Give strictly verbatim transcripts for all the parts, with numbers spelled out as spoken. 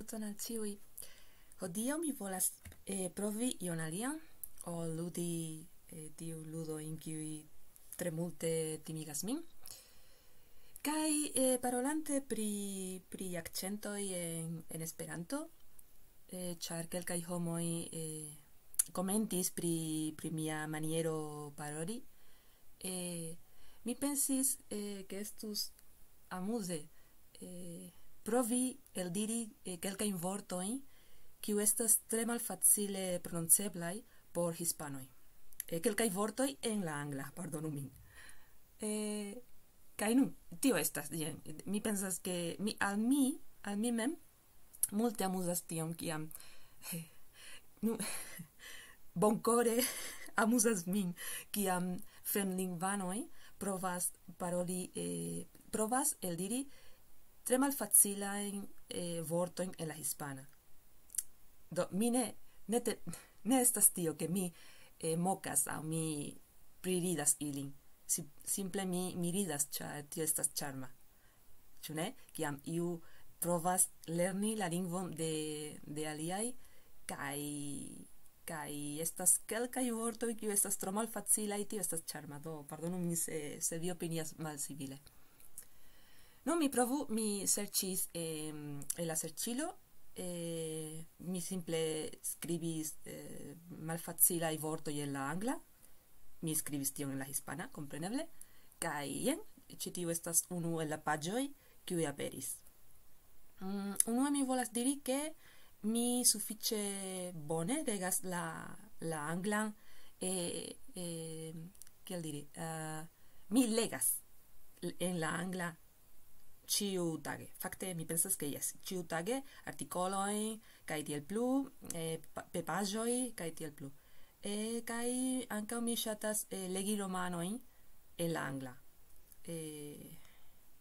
Saluton al ĉiuj. Hodiaŭ mi volas eh, provi ion alian, ol ludi eh, tiu ludo en kiuj tre multe timigas min. Kaj eh, parolante pri, pri akcentoj en, en Esperanto, eh, ĉar kelkaj homoj eh, komentis pri, pri mia maniero paroli, eh, mi pensis eh, ke estus amuze eh, provi eldiri eh, kelkajn vortojn, kiu estas tre malfacile prononceblaj por hispanoj. Eh, kelkaj vortoj en la angla, pardonu min. Eh, kaj nun, tio estas, jen, mi pensas ke mi, al mi, al mi mem, multe amuzas tion, kiam, eh, nu, bonkore amuzas min, kiam fremlingvanoj provas paroli, eh, provas eldiri tre malfacilajn eh, vortojn en la hispana. Do, mi ne, ne, te, ne estas tio, ke mi eh, mokas aŭ mi priridas ilin. Si, simple mi, mi ridas, ĉar tio estas ĉarma. Ĉu ne? Kiam iu provas lerni la lingvon de, de aliaj, kaj, kaj estas kelkaj vortoj, kiu estas tro malfacilaj, tio estas ĉarma. Do, pardonu min, se, se vi opinias malsivile. Nu, mi provu, mi serĉis em, en la serĉilo, eh, mi simple skribis eh, malfacilaj vortoj en la angla, mi skribis tion en la hispana, kompreneble, kaj jen, ĉi tiu estas unu el la paĝoj, kiuj aperis. Mm, unue mi volas diri, ke mi sufiĉe bone legas la, la anglan, eh, eh, kiel diri, eh, mi legas en la angla ĉiu tage. Fakte, mi pensas, ke jes, ĉiu tage artikolojn, kaj tiel plu, eh, pa- pepaĵoj, kaj tiel plu. Eh, kaj ankaŭ mi ŝatas eh, legi romanojn en la angla. Eh,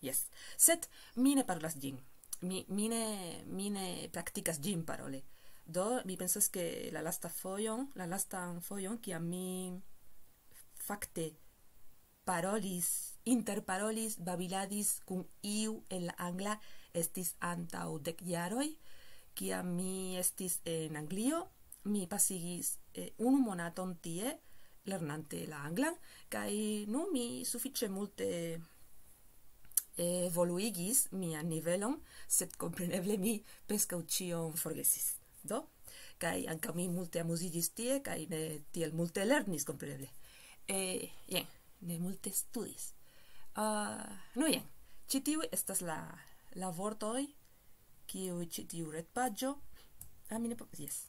jes. Sed mi ne parolas ĝin. Mi, mi, ne, mi ne praktikas ĝin parole. Do, mi pensas, ke la lasta fojon, la lastan fojon, kiam mi fakte parolis, interparolis, babiladis kun iu en la angla, estis antaŭ dek jaroj, kiam mi estis en Anglio, mi pasigis eh, unu monaton tie, lernante la anglan, kaj nu mi sufiĉe multe evoluigis mian nivelon, sed kompreneble mi preskaŭ ĉion forgesis. Do, kaj ankaŭ mi multe amuziĝis tie, kaj ne tiel multe lernis, kompreneble. Eh, jen, ne multe studis. Uh, nu jen, ĉi tiuj estas la, la vortoj, kiuj ĉi tiu retpaĝo, ah, mi ne po-, jes.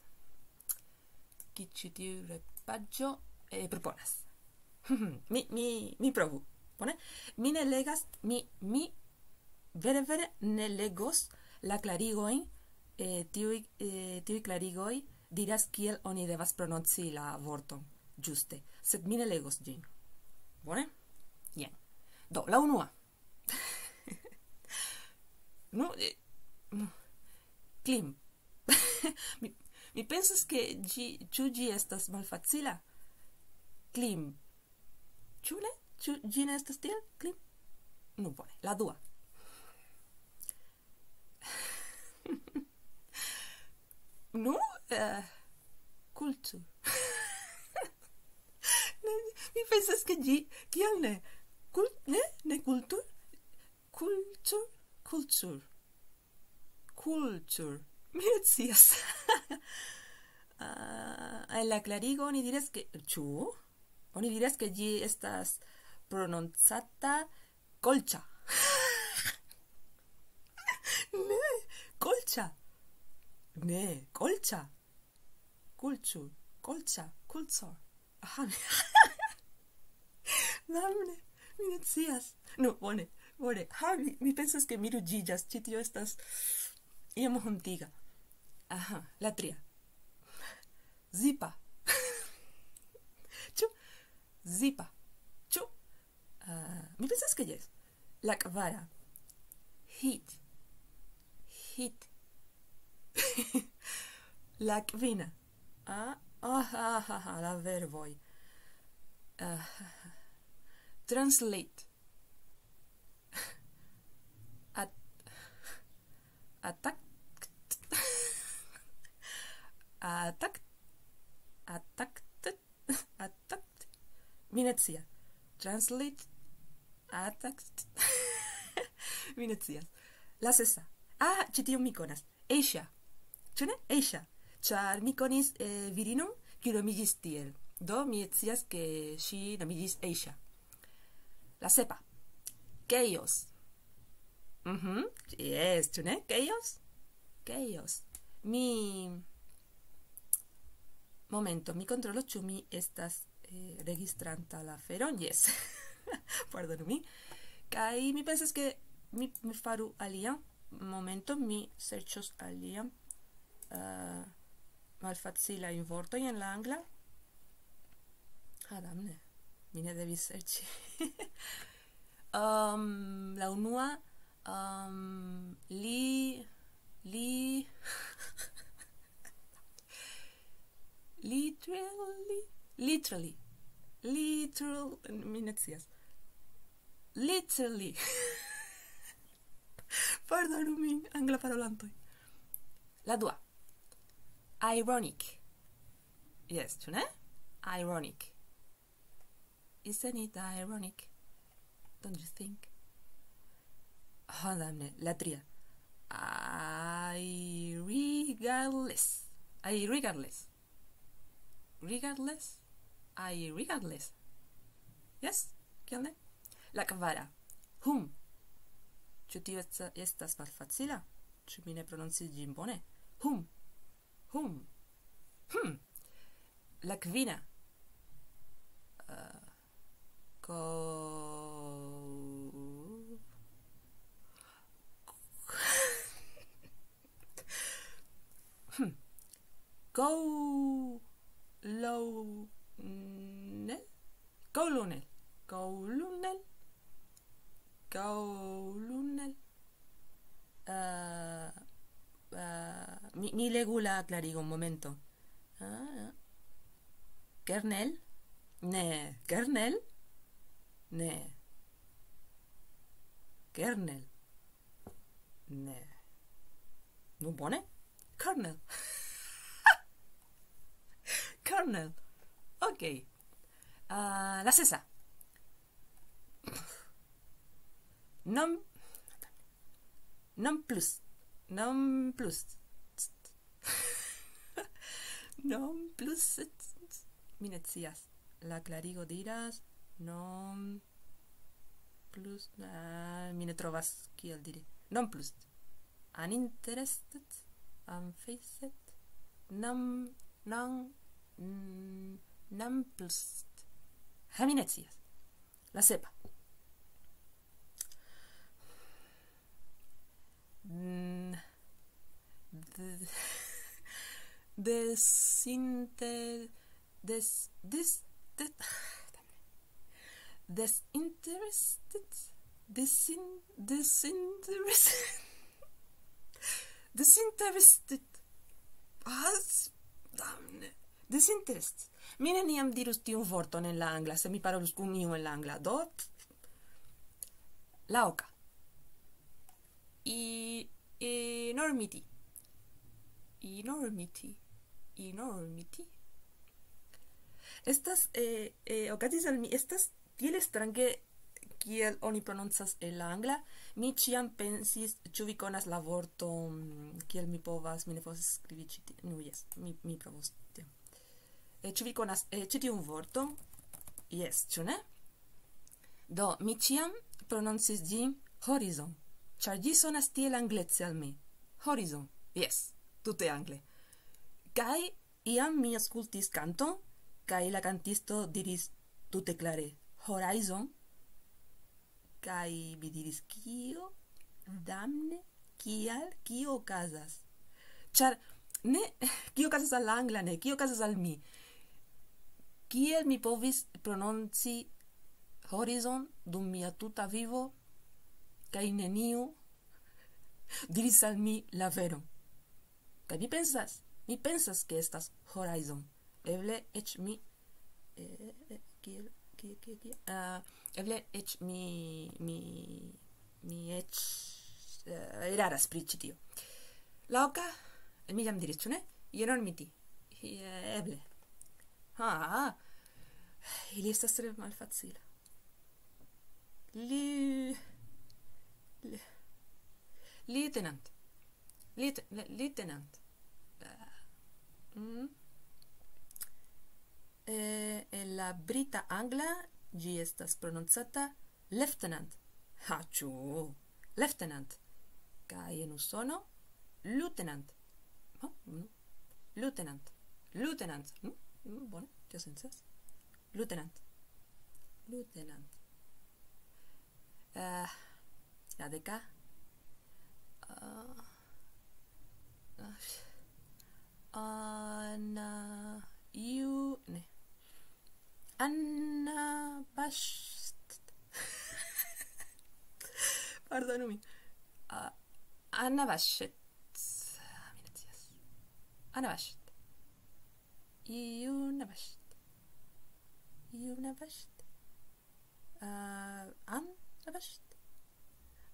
Ki ĉi tiu retpaĝo eh, proponas. mi, mi, mi provu. Bone? Mi ne legas, mi, mi vere, vere ne legos la klarigojn, eh, tiuj, eh, tiuj klarigoj diras, kiel oni devas prononci la vorton ĝuste. Sed mi ne legos ĝin. Bone? Jen. Do, la unua. Nu, eh, nu. Klim. mi, mi pensas, ke ĝi, ĉu ĝi estas malfacila? Klim. Ĉu ne? Ĉu ĝi ne estas tiel? Klim. Nu, bone. La dua. nu, eh, kultu. ne, mi pensas, ke ĝi, kial ne? Kul, ne? Ne kultur? Kultur? Kultur. Kultur. Mi ne scias. Ah, en la klarigo oni diras, ke, ĉu? Oni diras, ke ĝi estas prononcata kolĉa. ne, kolĉa. Ne, kolĉa. Kultur, kolĉa, kultur. Aha. Damne, mi ne scias. Nu, bone, bone. Ha, mi, mi pensas, ke mi ruĝiĝas. Ĉi tio estas iom hontiga. Aha, la tria. Zipa. ĉu? Zipa. Ĉu? Ah, mi pensas, ke jes. La kvara. Hit. Hit. la kvina. Ah, ah, ah, ah, ah, la verboj. Ah, translate. At, attack. Mi ne scias. Translate. Attack. Mi ne scias. La sesa. Ah, ĉi tion mi konas. Asia. Ĉu ne? Asia. Ĉar mi konis eh, virinon, kiu nomiĝis tiel. Do, mi scias, ke ŝi nomiĝis Asia. La sepa. Chaos. Mhm. Yes, ĉu ne? Chaos. Chaos. Mi... Momento, mi kontrolo, ĉu mi estas eh, registranta la feron. Yes. Pardonu mi. Kaj mi pensas, ke mi, mi faru alian. Momento, mi serĉos alian uh, malfacilajn vortojn en la angla. Ah, damne. Mi ne devis serĉi. um, la unua, um, li, li, literally, literally, literal, mi ne scias. Literally. Pardonu min, angla parolantoj. La dua. Ironic. Yes, ĉu ne? Ironic. Isn't it ironic? Don't you think? Oh, damne. La tria. I regardless. I regardless. Regardless? I regardless. Yes? Kiel ne? La kvara. Whom? Ĉu tio esta- estas malfacila? Ĉu mi ne prononcis ĝin bone? Whom? Whom? Hmm. La kvina. Uh, ko... hmm. Koulonel? Koulunel. Koulunel. Koulunel. Uh, uh, mi, mi legu la klarigon, momento. Ah, kernel? Ne. Kernel? Ne. Kernel? Ne. Nu, bone. Kernel. Kernel. Ok. Uh, la sesa. Non... Non plus. Non plus. Non plus. Mi ne scias. La klarigo diras non plus. Ah, mi ne trovas kiel diri. Non plus. Uninterested. Unfazed. Non... Non... Mm, non plus. Ha, mi ne scias. La sepa. Mm, de- Desinte... Des... Des... De- Desinterested. Desin... Desinterested. Desinterested. Ah, damne. Desinterested. Mi neniam dirus tiun vorton en la angla, se mi parolus kun iu en la angla. Do, la oka. I... Enormity. Enormity. Enormity. Estas, eh, eh, okazis al mi, estas tiel strange kiel oni prononcas en la angla. Mi ĉiam pensis, ĉu vi konas la vorton, kiel mi povas, mi ne povas skribi ĉi tie. Nu, jes, mi, mi provos tion. Eh, ĉu vi konas eh, ĉi tiun vorton? Jes, ĉu ne? Do, mi ĉiam prononcis ĝin horizon, ĉar ĝi sonas tiel anglece al mi. Horizon, jes, tute angle. Kaj iam mi aŭskultis kanton, kaj la kantisto diris tute klare: "Horizon." Kaj mi diris: "Kio? Damne, kial? Kio okazas?" Ĉar ne, kio okazas al la angla, ne, kio okazas al mi? Kiel mi povis prononci horizon dum mia tuta vivo, kaj neniu diris al mi la veron? Kaj mi pensas, mi pensas, ke estas horizon. Eble eĉ mi... eh, eh, kiel, kiel, kiel, kiel? Ah, eble eĉ mi, mi, mi eĉ eh, eraras pri ĉi tio. La oka, mi jam diris, ĉu ne? Enormity. Eh, eble. Ha, Ili estas tre malfacila. Li... Li... Lieutenant. Li... Lieutenant. Mm. Eh, en la brita angla ĝi estas prononcata lieutenant. Ha, ĉu? Lieutenant. Kaj en Usono, lieutenant. Ha, mm. Lieutenant. Lieutenant. Mm, mm, bone, tio sencas. Lieutenant. Lieutenant. Eh, la deka. Ah, ah, Anna... Iu... Ne. Anna Bast... Pardonu min. Ah, Anna Baŝet. Ah, mi ne scias. Anna Baŝet. Iu Nabaŝet. Iu Nabaŝet. Ah, An Nabaŝet.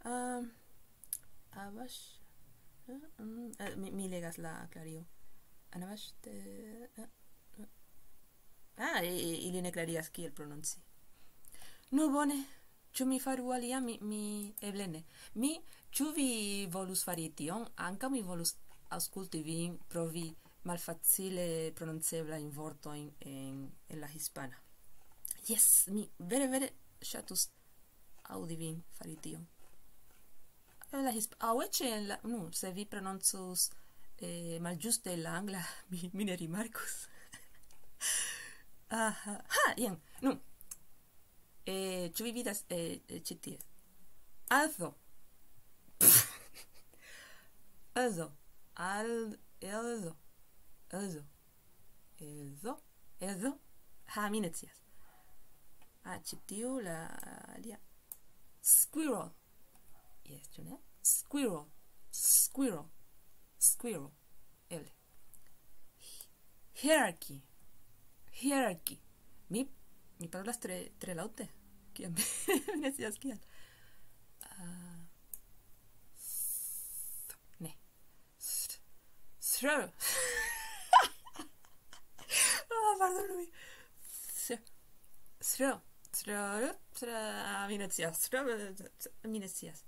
Ah, Abash... eh, mm, eh, mi, mi legas la klario. Anabaŝet, eh, eh, eh. Ah, i-, i-, ili ne klarigas kiel prononci. Nu, bone. Ĉu mi faru alia? Mi, mi, eble ne. Mi, ĉu vi volus fari tion? Ankaŭ mi volus aŭskulti vin, provi malfacile prononceblajn vortojn en, en la hispana. Jes, mi vere, vere ŝatus aŭdi vin fari tion. En la hisp-, aŭ eĉ en la, nu, se vi prononcus, eh, malĝuste la angla, mi, mi ne rimarkus. Aha. Ha, jen. Nu. Eh, ĉu vi vidas, eh, eh, ĉi tie? Alzo. Alzo. Al-, alzo. Alzo. Alzo. Alzo. Ha, mi ne scias. Ah, ĉi tiu la alia. Squirrel. Jes, ĉu ne? Squirrel. Squirrel. Squirrel. Eble. Hierarchy. Hierarchy. Mi, mi parolas tre, tre laŭte. Kiam mi ne scias kial. Ah, ne. Sr-, sr-, ah, pardonu min. Sr-, sr-, sr-, sr-, ah, mi ne scias. Sr-, mi ne scias.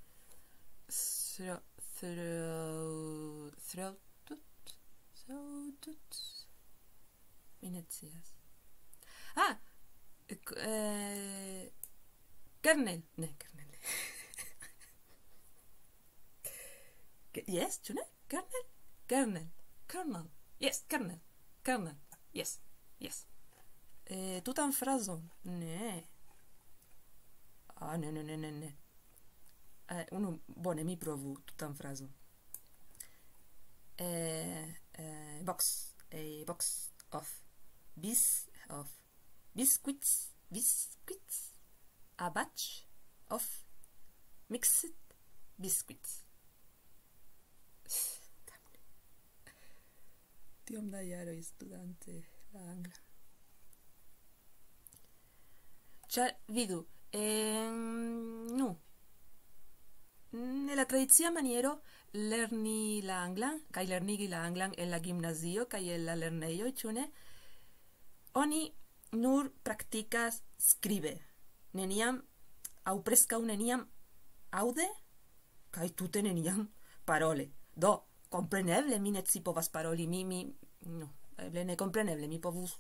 Sr-, sr-, sr-, tut, sr-, tut. Mi ne scias. Ah, k-, eh, kernel. Ne, kernel. Ke-, jes, ĉu ne? Kernel? Kernel. Kernel. Jes, kernel. Kernel. Jes, jes. Eh, tutan frazon? Ne. Ah, ne, ne, ne, ne, ne. Eh, unu, bone, mi provu tutan frazon. Eh, eh, box, a box of bis-, of biscuits, biscuits, a batch of mixed biscuits. Tiom da jaroj studante la anglan. Ĉar, vidu, en, nu, en la tradicia maniero lerni la anglan, kaj lernigi la anglan en la gimnazio, kaj en la lernejoj, ĉu ne? Oni nur praktikas skribe, neniam, aŭ preskaŭ neniam, aŭde, kaj tute neniam parole. Do, kompreneble mi ne scipovas paroli, mi, mi, nu, eble ne kompreneble, mi povus,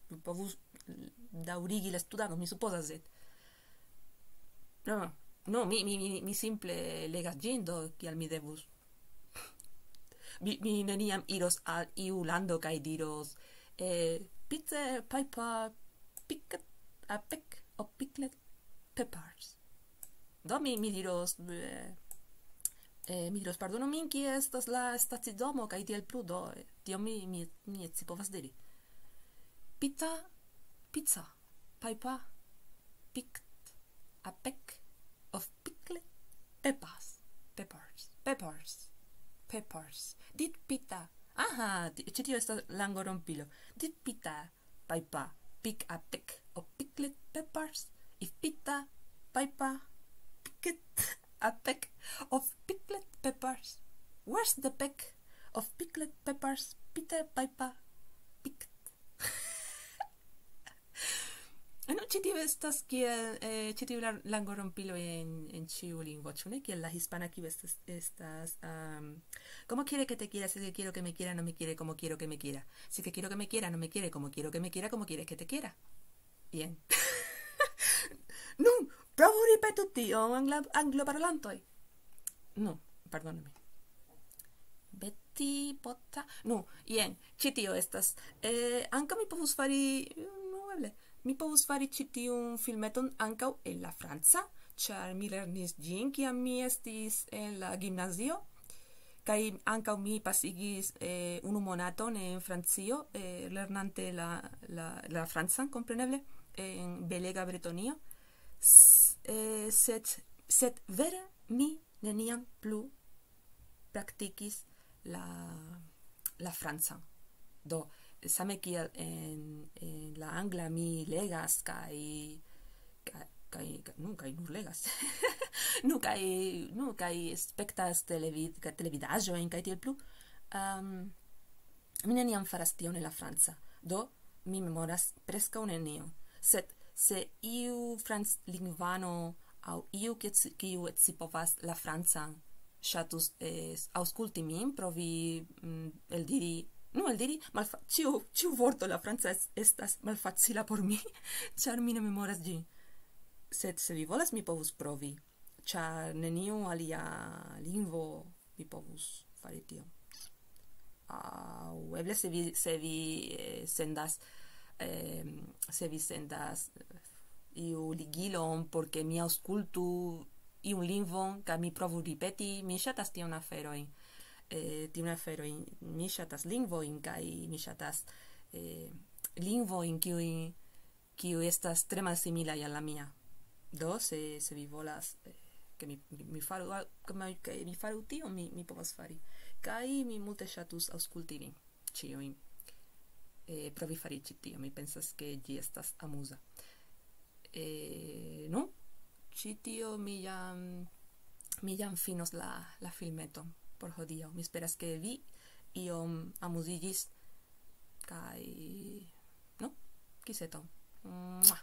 mi povus daŭrigi la studadon, mi supozas, sed... No, no, mi, mi, mi, mi simple legas ĝin, do kial mi devus? Mi, mi neniam iros al iu lando kaj diros, eh, "Pizza, paipa, picket, a peck of pickled peppers." Do mi, mi diros, eh, eh, mi diros, "Pardonu min, kie estas la stacidomo?" kaj tiel plu, do, eh, tion mi, mi, mi scipovas diri. "Pizza, pizza, paipa, picked, a peck of pickled peppers, peppers, peppers, peppers. Did Peter." Aha, ti-, ĉi tio estas langorompilo. "Did Peter, paipa, pick a peck of pickled peppers? If Peter, paipa, picked a peck of pickled peppers, where's the peck of pickled peppers Peter, paipa, picked?" Ĉi tiu estas kiel eh, ĉi tiu la- langorompilo en, en ĉiu lingvo, ĉu ne? Kiel la hispana, kiu estas, estas um, como quiere que te quiera, si que quiero que me quiera, no me quiere como quiero que me quiera. Si que quiero que me quiera, no me quiere como quiero que me quiera, como quiere que te quiera. Bien. Nun, provu ripeti tion angla, angloparolantoj. Nu, pardonu min. Beti pota. Nu, jen, ĉi tio estas. Eh, ankaŭ mi povus fari, nu, eble, mi povus fari ĉi tiun filmeton ankaŭ en la franca, ĉar mi lernis ĝin, kiam mi estis en la gimnazio. Kaj ankaŭ mi pasigis eh, unu monaton en Francio, eh, lernante la, la, la francan, kompreneble, en belega Bretonio. S, eh, sed, sed vere mi neniam plu praktikis la, la francan. Do, same kiel en, en la angla mi legas kaj kaj kaj nu kaj nur legas nu kaj nu kaj spektas televid, televidaĵojn kaj tiel plu. Um, mi neniam faras tion en la franca, do mi memoras preskaŭ nenion. Sed se iu franclingvano aŭ iu kiu scipovas la francan ŝatus eh, aŭskulti min, provi mm, eldiri, nu eldiri, malfa, ĉiu, ĉiu vorto la franca estas malfacila por mi, ĉar mi ne memoras ĝin. Sed se vi volas, mi povus provi, ĉar neniu alia lingvo mi povus fari tion. Aŭ eble se vi, se vi eh, sendas, eh, se vi sendas iu ligilon, por ke mi aŭskultu iun lingvon, kaj mi provu ripeti, mi ŝatas tiun aferojn. Eh, tiun aferojn, mi ŝatas lingvojn, kaj mi ŝatas eh, lingvojn, kiuj kiu estas tre malsimilaj al la mia. Do, se, se vi volas, eh, ke mi, mi faru, al- ke mi, ke mi faru tion, mi, mi povas fari. Kaj mi multe ŝatus aŭskulti vin ĉiujn. Eh, provi fari ĉi tio, mi pensas, ke ĝi estas amuza. Eh, nu, ĉi tio mi jam, mi jam finos la, la filmeton por hodiaŭ. Mi esperas, ke vi iom amuziĝis kaj, nu, kiseton. Mua.